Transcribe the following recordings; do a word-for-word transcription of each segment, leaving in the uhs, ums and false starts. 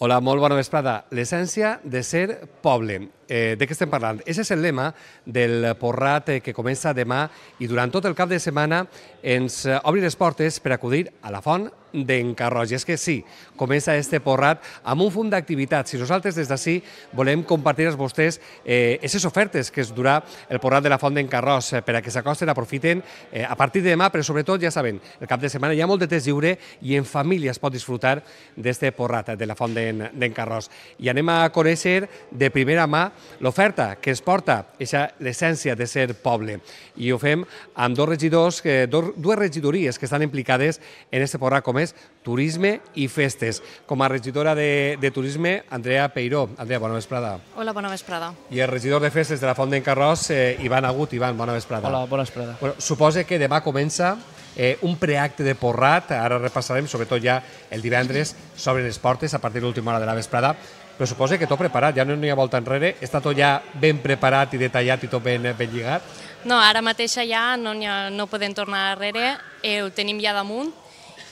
Hola, molt bona vesprada. L'essència de ser poble. Eh, de què estem parlant? Aquest és el lema del Porrat eh, que comença demà i durant tot el cap de setmana ens eh, obri les portes per acudir a la font d'en Carroix. I és que sí, comença este Porrat amb un funt d'activitats. I nosaltres des d'ací volem compartir amb vostès aquestes eh, ofertes que es durà el Porrat de la font d'en Carroix eh, per a que s'acosten, aprofiten eh, a partir de demà, però sobretot, ja saben, el cap de setmana hi ha molt de temps lliure i en família es pot disfrutar d'este Porrat de la font d'en Carroix. I anem a conèixer de primera mà l'oferta que es porta, l'essència de ser poble. I ho fem amb dos regidors, dues regidories que estan implicades en este Porrat, com és Turisme i Festes. Com a regidora de, de Turisme, Andrea Peiró. Andrea, bona vesprada. Hola, bona vesprada. I el regidor de Festes de la Font d'en Carroix, eh, Ivan Agut. Ivan, bona vesprada. Hola, bona vesprada. Bueno, suposa que demà comença eh, un preacte de Porrat, ara repassarem, sobretot ja el divendres, s'obren les portes a partir de l'última hora de la vesprada, però suposa que tot preparat, ja no hi ha volta enrere, està tot ja ben preparat i detallat i tot ben, ben lligat? No, ara mateix ja no, ha, no podem tornar darrere, eh, ho tenim ja damunt.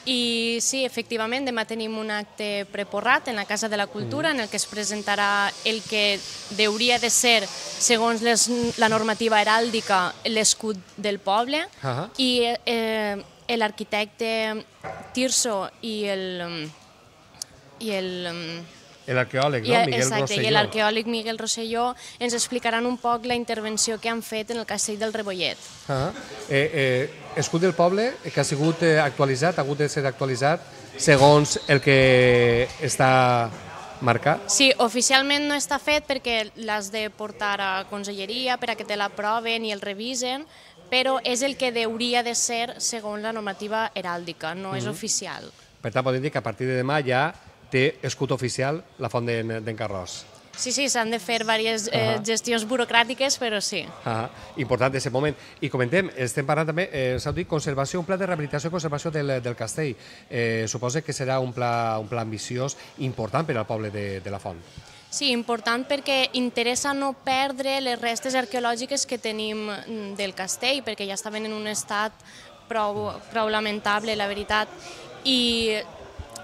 I sí, efectivament, demà tenim un acte preporrat en la Casa de la Cultura en el que es presentarà el que hauria de ser, segons les, la normativa heràldica, l'escut del poble. Uh-huh. I eh, l'arquitecte Tirso i el... I el L'arqueòleg, no? Miguel Rosselló. Exacte, i l'arqueòleg Miguel Rosselló ens explicaran un poc la intervenció que han fet en el castell del Rebollet. Uh-huh. eh, eh, escut del poble, que ha sigut actualitzat, ha hagut de ser actualitzat segons el que està marcat? Sí, oficialment no està fet perquè l'has de portar a conselleria per a que te l'aproven i el revisen, però és el que hauria de ser segons la normativa heràldica, no uh-huh. és oficial. Per tant, podem dir que a partir de demà ja té escut oficial la font d'en Carroix. Sí, sí, s'han de fer diverses eh, uh-huh. gestions burocràtiques, però sí. Uh-huh. Important aquest moment. I comentem, estem parlant també, eh, s'ha dit conservació, un pla de rehabilitació i conservació del, del castell. Eh, suposa que serà un pla, un pla ambiciós important per al poble de, de la font. Sí, important perquè interessa no perdre les restes arqueològiques que tenim del castell, perquè ja estaven en un estat prou, prou lamentable, la veritat, i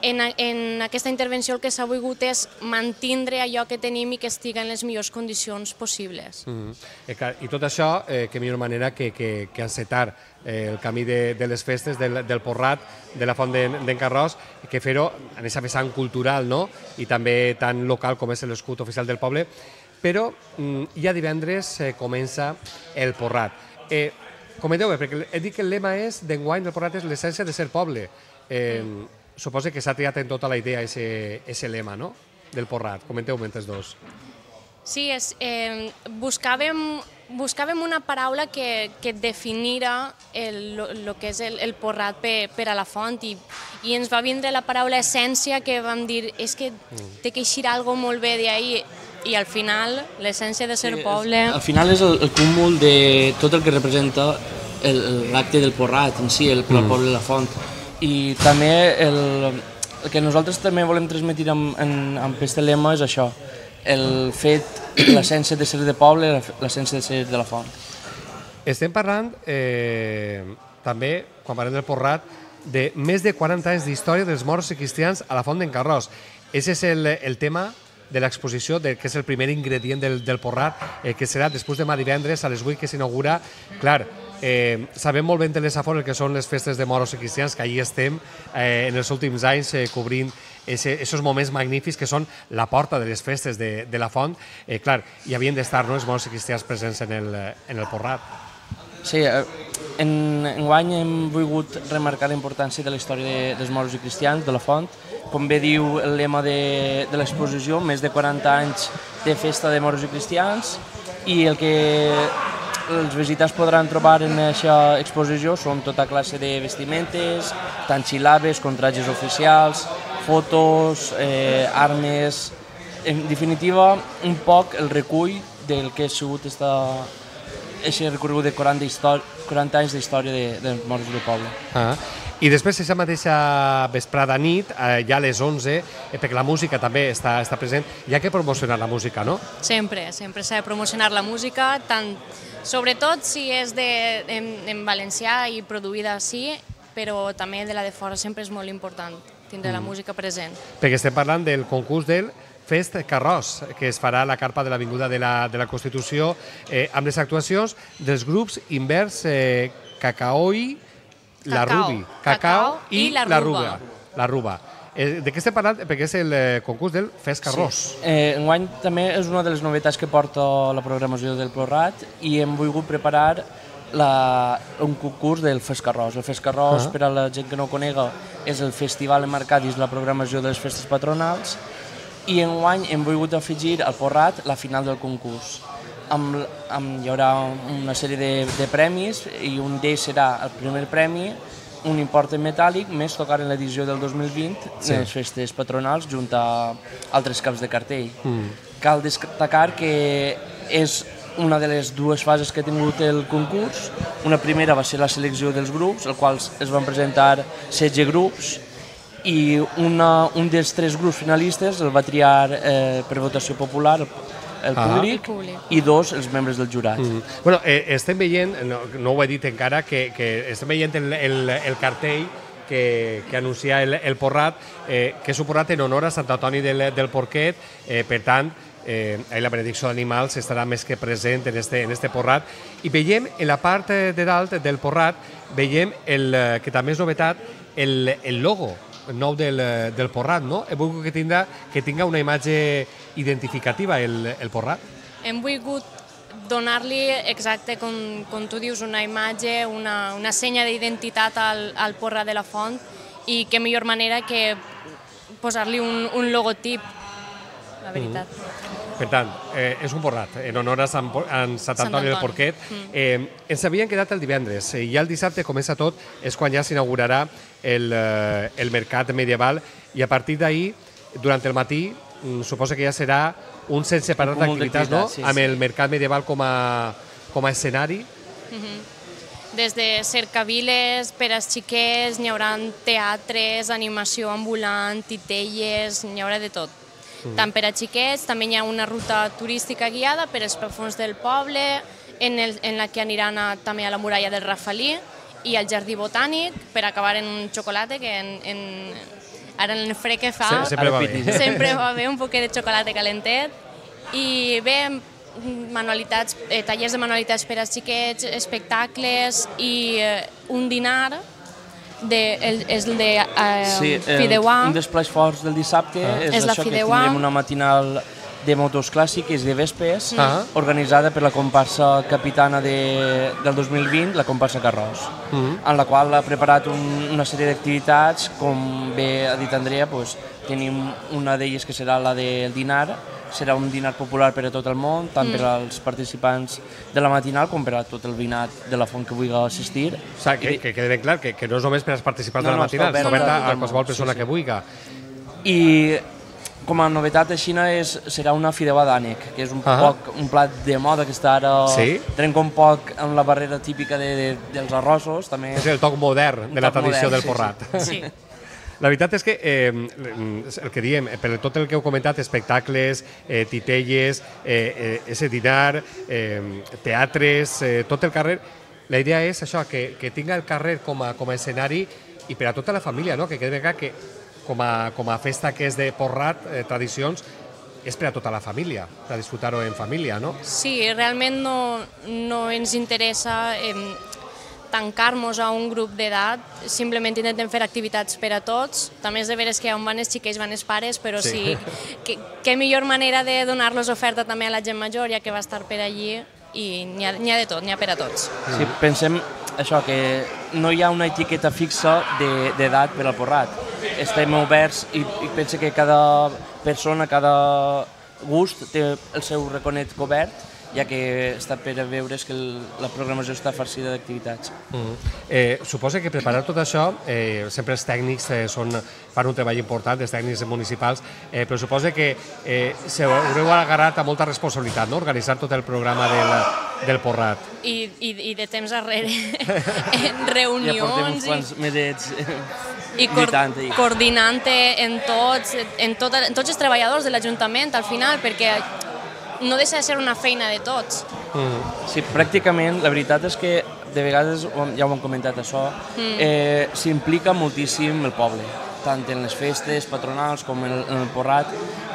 En, en aquesta intervenció el que s'ha volgut és mantindre allò que tenim i que estiga en les millors condicions possibles. Mm-hmm. I tot això, eh, que millor manera que, que, que encetar eh, el camí de, de les festes del, del Porrat, de la font d'en Carroix, que fer-ho en aquesta vessant cultural, no? I també tan local com és l'escut oficial del poble, però mm, ja divendres eh, comença el Porrat. Eh, Comenteu-me, perquè he dit que el lema és d'enguany del Porrat és l'essència de ser poble. Eh, mm. Suposa que s'ha triat en tota la idea aquest lema, no?, del Porrat. Comenteu-me entre els dos. Sí, és, eh, buscàvem, buscàvem una paraula que, que definira el, lo que és el, el Porrat per, per a la font i, i ens va vindre la paraula essència, que vam dir és que té que eixir alguna cosa molt bé d'ahir, i al final l'essència de ser sí, poble... Al final és el, el cúmul de tot el que representa l'acte del Porrat en si, el, el poble de la font. I també el, el que nosaltres també volem transmetre amb, en, amb aquest lema és això, el fet, l'essència de ser de poble, l'essència de ser de la font. Estem parlant eh, també, quan parlem del Porrat, de més de quaranta anys d'història dels moros i cristians a la font d'en Carroix. Aquest és el, el tema de l'exposició, que és el primer ingredient del, del Porrat, eh, que serà després demà divendres a les vuit que s'inaugura. Clar, Eh, sabem molt ben de les afores que són les festes de moros i cristians, que allí estem eh, en els últims anys eh, cobrint aquests moments magnífics que són la porta de les festes de, de la font. Eh, clar, hi havien d'estar, no?, els moros i cristians presents en el, en el Porrat. Sí, en, enguany hem volgut remarcar la importància de la història de, dels moros i cristians, de la font. Com bé diu el lema de, de l'exposició, més de quaranta anys de festa de moros i cristians, i el que els visitants podran trobar en aquesta exposició són tota classe de vestimentes, tant xilabes com trajes oficials, fotos, eh, armes... En definitiva, un poc el recull del que ha sigut aquest recorregut de quaranta anys d'història de, dels moros del poble. Ah. I després, aquesta mateixa vesprada nit, eh, ja a les onze, eh, perquè la música també està, està present, hi ha que promocionar la música, no? Sempre, sempre s'ha de promocionar la música, tant, sobretot si és de, en, en valencià i produïda així, però també de la de fora sempre és molt important. tindrà la música present. Perquè estem parlant del concurs del Fest Carròs, que es farà a la carpa de l'Avinguda de la, de la Constitució, eh, amb les actuacions dels grups Invers eh, Cacaoi, la Cacao. Rubi, Cacao i, i la la Ruba. Ruba. La Ruba. Eh, de què estem parlant? Perquè és el eh, concurs del Fest Carròs. Sí. Eh, enguany també és una de les novetats que porta la programació del Prorrat i hem volgut preparar la, un concurs del Fest Carròs. El Fest Carròs, Ah. per a la gent que no ho conega, és el festival emmarcat dins la programació de les festes patronals i enguany hem volgut afegir al Prorrat la final del concurs. Amb, amb, hi haurà una sèrie de, de premis i un d'ells serà el primer premi, un import en metàl·lic, més tocar en l'edició del dos mil vint Sí. en les festes patronals junt a altres caps de cartell. Mm. Cal destacar que és una de les dues fases que ha tingut el concurs. Una primera va ser la selecció dels grups, als quals es van presentar setze grups, i una, un dels tres grups finalistes el va triar eh, per votació popular el, el Ah. públic, El públic. i dos els membres del jurat. Mm. Bueno, eh, estem veient, no, no ho he dit encara, que, que estem veient el, el, el cartell que, que anuncia el, el Prorrat, eh, que és un Prorrat en honor a Sant Antoni del, del Porquet, eh, per tant, eh, la benedicció d'animals estarà més que present en este, en este Prorrat. I veiem en la part de dalt del Prorrat, veiem el, que també és novetat, el, el logo nou del, del Prorrat, no? He volgut que tinga, que tinga una imatge identificativa el, el Prorrat. Hem volgut donar-li, exacte com, com tu dius, una imatge, una, una senya d'identitat al, al Prorrat de la Font, i què millor manera que posar-li un, un logotip, la veritat. Mm. Per tant, eh, és un Prorrat en honor a Sant, a Sant Antoni del Porquet. Mm. Eh, ens havien quedat el divendres i ja el dissabte comença tot, és quan ja s'inaugurarà el, eh, el mercat medieval, i a partir d'ahir, durant el matí, mm, suposo que ja serà un sense parar Un cúmul d'activitats, no? d'activitats, sí, Amb sí. el mercat medieval com a, com a escenari. Des de cercaviles per als xiquets, n'hi haurà teatres, animació ambulant, titelles, n'hi haurà de tot. Tant per a xiquets, també hi ha una ruta turística guiada per als fons del poble, en, el, en la que aniran a, també a la muralla del Rafalí i al jardí botànic, per acabar en un xocolate, que en, en, ara en el fred que fa Se- sempre va bé. sempre va bé un poquet de xocolate calentet. I bé, manualitats, eh, tallers de manualitats per als xiquets, espectacles i eh, un dinar, de, el, és el de eh, Sí, el, Fideuà. un dels plats forts del dissabte Ah. és, És la això, que Fideuà. tindrem una matinal de motos clàssiques de vespes, Ah. organitzada per la comparsa capitana de, del dos mil vint, la comparsa Carròs, Mhm. en la qual ha preparat un, una sèrie d'activitats, com bé ha dit Andrea, doncs, tenim una d'elles que serà la del dinar, serà un dinar popular per a tot el món, tant Mm. per als participants de la matinal com per a tot el veïnat de la font que vulgui assistir. O sigui, que, que quedi ben clar que, que no és només per als participants No, de la no, matinal, està està oberta oberta a tot a el qualsevol món, persona sí, que sí. vulgui. I com a novetat a Xina és, serà una fideuà d'ànec, que és un, Ah. poc, un plat de moda que està ara Sí? trenca un poc amb la barrera típica de, de, dels arrossos. També. És el toc modern de la toc tradició modern, del sí, Prorrat. Sí. La veritat és que eh, el que diem, per tot el que heu comentat, espectacles, eh, titelles, eh, eh, ese dinar, eh, teatres, eh, tot el carrer, la idea és això, que, que tinga el carrer com a, com a escenari i per a tota la família, no? Que quedi ben clar que com a, com a festa que és de Prorrat, eh, tradicions, és per a tota la família, per a disfrutar-ho en família, no? Sí, realment no, no ens interessa eh, tancar-nos a un grup d'edat, simplement intentem fer activitats per a tots. També és de veres que on van els xiquets van els pares, però Sí. sí, que, que millor manera de donar-los oferta també a la gent major, ja que va estar per allí, i n'hi ha, n'hi ha de tot, n'hi ha per a tots. Sí, pensem això, que no hi ha una etiqueta fixa de- d'edat per al Prorrat. Estem oberts i, i penso que cada persona, cada gust té el seu raconet cobert, ja que està per a veure's que el, la programació està farcida d'activitats. Mm. Eh, suposa que preparar tot això, eh, sempre els tècnics eh, són, fan un treball important, els tècnics municipals, eh, però suposa que eh, se haureu agarrat a molta responsabilitat, no?, organitzar tot el programa del, del Prorrat. I, i, i de temps arrere, en Ja portem uns reunions quants medets i, i cor, lluitant. i- coordinant en tots, en, tot, en tots els treballadors de l'Ajuntament al final, perquè no deixa de ser una feina de tots. Mm. Sí, pràcticament, la veritat és que de vegades, ja ho hem comentat això, Mm. eh, s'implica moltíssim el poble. tant en les festes patronals com en el Porrat.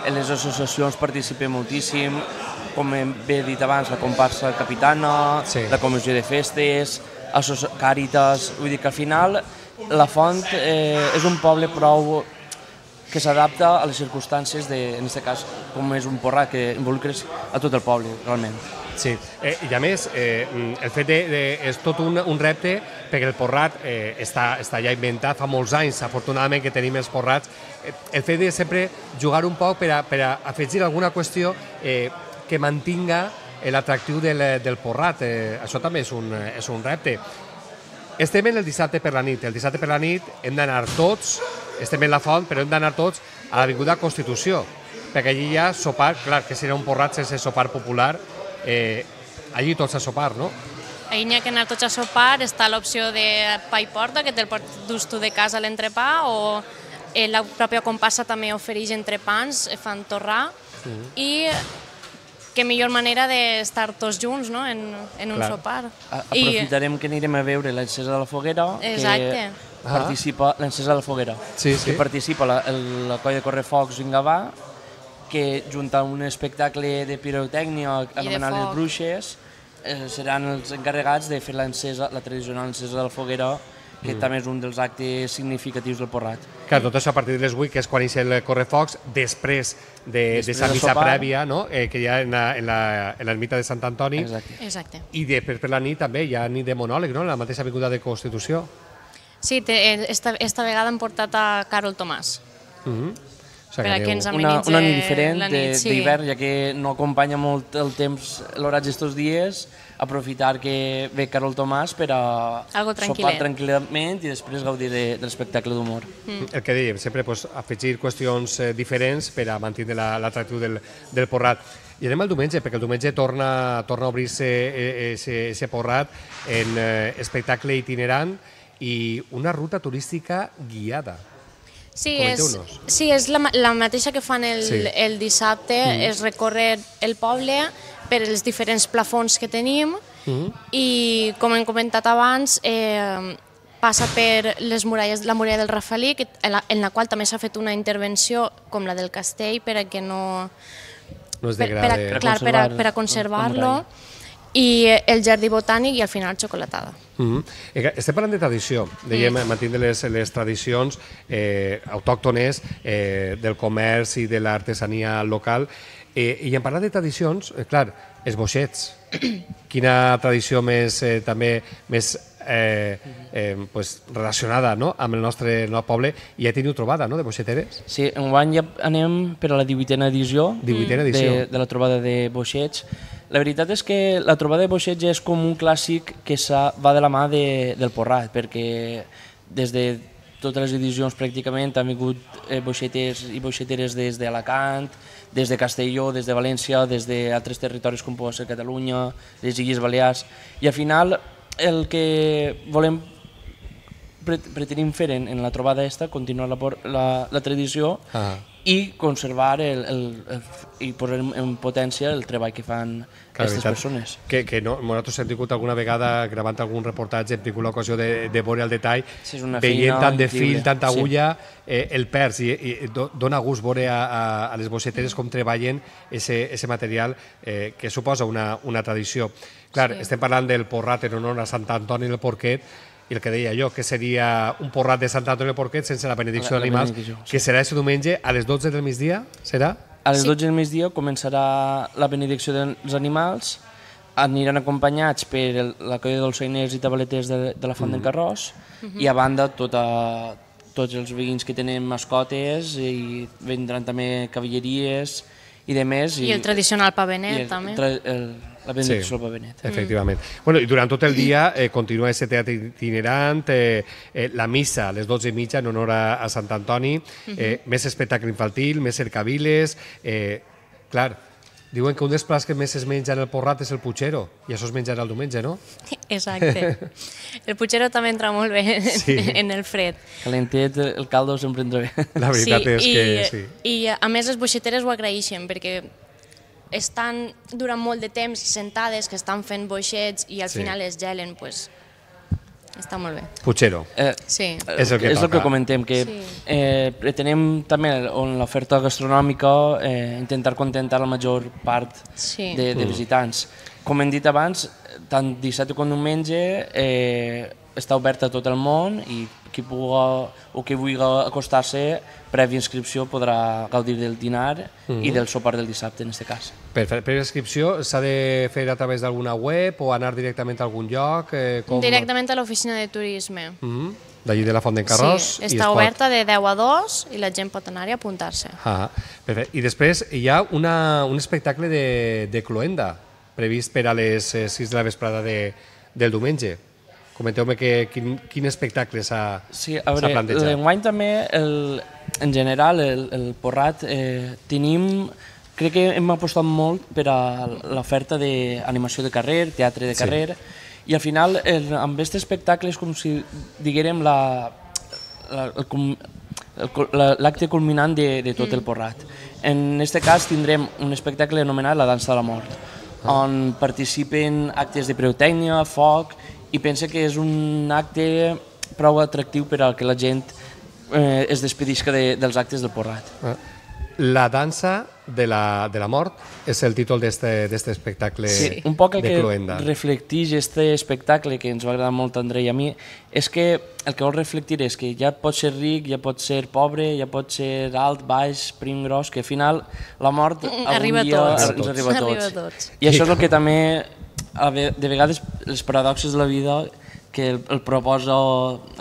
En les associacions participem moltíssim, com bé dit abans, la comparsa capitana, sí. La comissió de festes, Càritas, vull dir que al final la Font eh, és un poble prou que s'adapta a les circumstàncies, de, en aquest cas, com és un Porrat que involucres a tot el poble, realment. Sí, eh, i a més, eh, el fet de, de, és tot un, un repte perquè el Porrat eh, està, està ja inventat fa molts anys, afortunadament que tenim els Porrats, eh, el fet de sempre jugar un poc per a, per a afegir alguna qüestió eh, que mantinga l'atractiu del, del Porrat, eh, això també és un, és un repte. Estem en el dissabte per la nit, el dissabte per la nit hem d'anar tots, estem en la Font, però hem d'anar tots a l'Avinguda Constitució, perquè allí hi ha sopar, clar, que serà un Porrat sense sopar popular, Eh, allí tots a sopar, no? Allí n'hi ha que anar tots a sopar, està l'opció de pa i porta, que te'l dus tu de casa a l'entrepà, o eh, la pròpia comparsa també ofereix entrepans, fan torrar, mm. i que millor manera d'estar tots junts, no?, en, en un Clar. Sopar. A aprofitarem I... que anirem a veure l'encesa de la foguera, Exacte. que participa ah. l'encesa de la foguera, sí, sí. que participa la, el, la colla de Correfocs Vingavà, que junt a un espectacle de pirotècnia anomenat les Bruixes eh, seran els encarregats de fer l'encesa, la tradicional encesa de la foguera, que mm. també és un dels actes significatius del Porrat. Clar, tot això a partir de les vuit, que és quan inicia el Correfocs, després de, de sa missa prèvia, no? eh, que hi ha en l'ermita de Sant Antoni. Exacte. Exacte. I després per la nit també hi ha nit de monòleg, no?, en la mateixa avinguda de Constitució. Sí, te, esta, esta vegada hem portat a Carol Tomàs. Mm-hmm. Per a que ens una, una nit diferent d'hivern, sí. Ja que no acompanya molt el temps, l'horatge d'estos dies, aprofitar que ve Carol Tomàs per a sopar tranquil·lament i després gaudir de, de l'espectacle d'humor. Mm. El que dèiem, sempre pues, afegir qüestions eh, diferents per a mantenir l'atractiu del, del Porrat. I anem al diumenge, perquè el diumenge torna, torna a obrir-se aquest Porrat en eh, espectacle itinerant i una ruta turística guiada. Sí, és, sí, és la, la mateixa que fan el, sí. el dissabte, mm. és recórrer el poble per els diferents plafons que tenim mm. i, com hem comentat abans, eh, passa per les muralles, la muralla del Rafalí, que, en, la, en la qual també s'ha fet una intervenció com la del castell per a que no... no es degrade. Per, per, a, clar, per, a, per a conservar-lo. I el jardí botànic i al final xocolatada. Mm-hmm. Estem parlant de tradició, dèiem, mm. mantenir les, les tradicions eh, autòctones eh, del comerç i de l'artesania local. Eh, I en parlar de tradicions, eh, clar, els boixets. Quina tradició més, eh, també, més eh, eh, pues, relacionada, no?, amb el nostre, el nostre poble, i ja teniu trobada, no?, de boixeteres? Sí, enguany ja anem per a la divuitena edició, divuitena edició. De, de la trobada de boixets. La veritat és que la trobada de boixets és com un clàssic que va de la mà de, del Porrat, perquè des de totes les edicions pràcticament han vingut eh, boixeters i boixeteres des d'Alacant, des de Castelló, des de València, des d'altres territoris com pot ser Catalunya, les Illes Balears, i al final el que volem pretenim fer en, en la trobada esta, continuar la, la, la tradició ah. i conservar el, el, el, i posar en potència el treball que fan aquestes persones. Que, que no, nosaltres hem tingut alguna vegada gravant algun reportatge, hem tingut l'ocasió de, de veure el detall, sí, veient tant de fil, tanta agulla, sí. eh, el perds, i, i dona gust veure a, a, a les boixeteres com treballen ese material eh, que suposa una, una tradició. Clar, sí. Estem parlant del Porrat en honor a Sant Antoni del Porquet, i el que deia jo, que seria un Porrat de Sant Antoni del Porquet sense la benedicció d'animals, que serà aquest diumenge a les dotze del migdia, serà? A les dotze del migdia començarà la benedicció dels animals, aniran acompanyats per la colla de dolçainers i tabaleters de, de la Font d'en Carròs, mm-hmm. i a banda tota, tots els veïns que tenen mascotes, i vendran també cavalleries i de més. I, I el tradicional pa benet, el, també. El, el, la benedicció del pa benet. Sí, efectivament. Mm. Bueno, i durant tot el dia eh, continua aquest teatre itinerant, eh, eh, la missa a les dotze i mitja en honor a, a Sant Antoni, eh, mm-hmm. més espectacle infantil, més cercaviles, eh, clar, diuen que un dels plats que més es menja en el Porrat és el putxero, i això es menjarà el diumenge, no? Exacte. El putxero també entra molt bé sí. en el fred. Calentet, el caldo sempre entra bé. La veritat sí, és i, que sí. I a més les boixeteres ho agraeixen, perquè estan durant molt de temps sentades, que estan fent boixets i al sí. final es gelen, pues, està molt bé. Puigero. Eh, Sí. És el que és el toca. que comentem, que Sí. eh, pretenem també en l'oferta gastronòmica eh, intentar contentar la major part Sí. de, de visitants. Com hem dit abans, tant dissabte com diumenge eh, està obert a tot el món i qui puga o qui vulgui acostar-se prèvia inscripció podrà gaudir del dinar i del sopar del dissabte en aquest cas. Per fer per inscripció s'ha de fer a través d'alguna web o anar directament a algun lloc? Eh, com... Directament a l'oficina de turisme. Mm, d'allí de la Font d'en Carròs. Sí, i es està pot- oberta de deu a dos i la gent pot anar-hi a apuntar-se. Ah, perfecte. I després hi ha una, un espectacle de, de cloenda previst per a les eh, sis de la vesprada de, del diumenge. Comenteu-me que, quin, quin espectacle s'ha Sí, a s'ha veure, plantejat. l'enguany també, el, en general, el, el Porrat, eh, tenim, crec que hem apostat molt per a l'oferta d'animació de carrer, teatre de Sí. carrer, i al final, el, amb aquest espectacle és com si diguérem la, la, el, com- el cul- la, l'acte culminant de, de tot el Porrat. En aquest cas tindrem un espectacle anomenat La dansa de la mort, on participen actes de pirotècnia, foc, i pense que és un acte prou atractiu per a que la gent eh, es despedisca de, dels actes del Porrat. Ah. La dansa de la, de la mort és el títol d'este espectacle Sí, un poc el de que cloenda. reflecteix este espectacle que ens va agradar molt a André i a mi és que el que vol reflectir és que ja pot ser ric, ja pot ser pobre, ja pot ser alt, baix, prim, gros, que al final la mort algun Arriba a dia tots. ens arriba a tots. Arriba a tots. I això és el que també, a ve- de vegades, les paradoxes de la vida que el, el proposa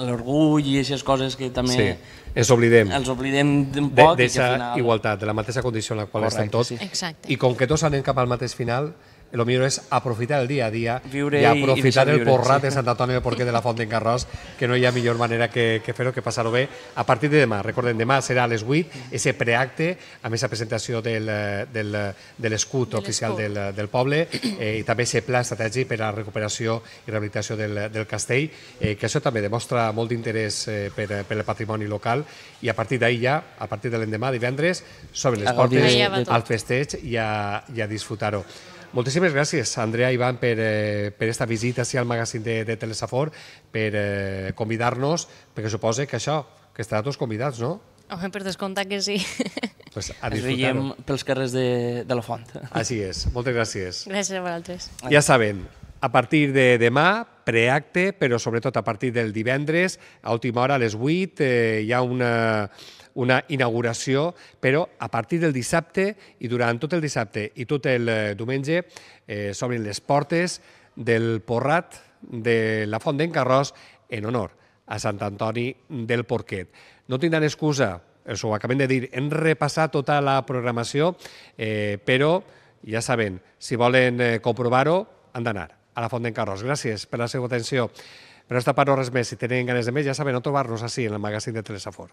l'orgull i aquestes coses que també Sí, ens oblidem els oblidem d'un de- poc i que d'eixa al final... igualtat, de la mateixa condició en la qual Correcte, estem tots. sí. Exacte. I com que tots anem cap al mateix final, el millor és aprofitar el dia a dia Viure i i- i aprofitar deixar el viure, porrat sí. de Sant Antoni del Porquet de la Font d'en Carròs, que no hi ha millor manera que, que fer-ho, que passar-ho bé. A partir de demà, recordem, demà serà a les vuit, ese preacte, amb aquesta presentació del, del, de l'escut De oficial l'escut. del, del poble eh, i també ese pla estratègic per a la recuperació i rehabilitació del, del castell, eh, que això també demostra molt d'interès eh, per, per el patrimoni local i a partir d'ahir ja, a partir de l'endemà, divendres, s'obren les A gaudir portes de- Ja va tot. al festeig i a, i a disfrutar-ho. Moltíssimes gràcies, Andrea i Ivan, per, eh, per esta visita sí, al magazín de, de Telesafor, per eh, convidar-nos, perquè suposa que això, que estarà tots convidats, no? Home, per descomptar que sí. Pues a Ens veiem disfrutar-ho. pels carrers de, de la Font. Així és, moltes gràcies. Gràcies a vosaltres. Ja saben, a partir de demà, preacte, però sobretot a partir del divendres, a última hora, a les vuit, eh, hi ha una, una inauguració, però a partir del dissabte i durant tot el dissabte i tot el eh, diumenge eh, s'obren les portes del Porrat de la Font d'en Carròs en honor a Sant Antoni del Porquet. No tindran excusa, us ho acabem de dir, hem repassat tota la programació, eh, però ja saben, si volen eh, comprovar-ho, han d'anar a la Font d'en Carròs. Gràcies per la seva atenció. Per aquesta part no res més. Si tenen ganes de més, ja saben on trobar-nos així en el magazín de Telesafor.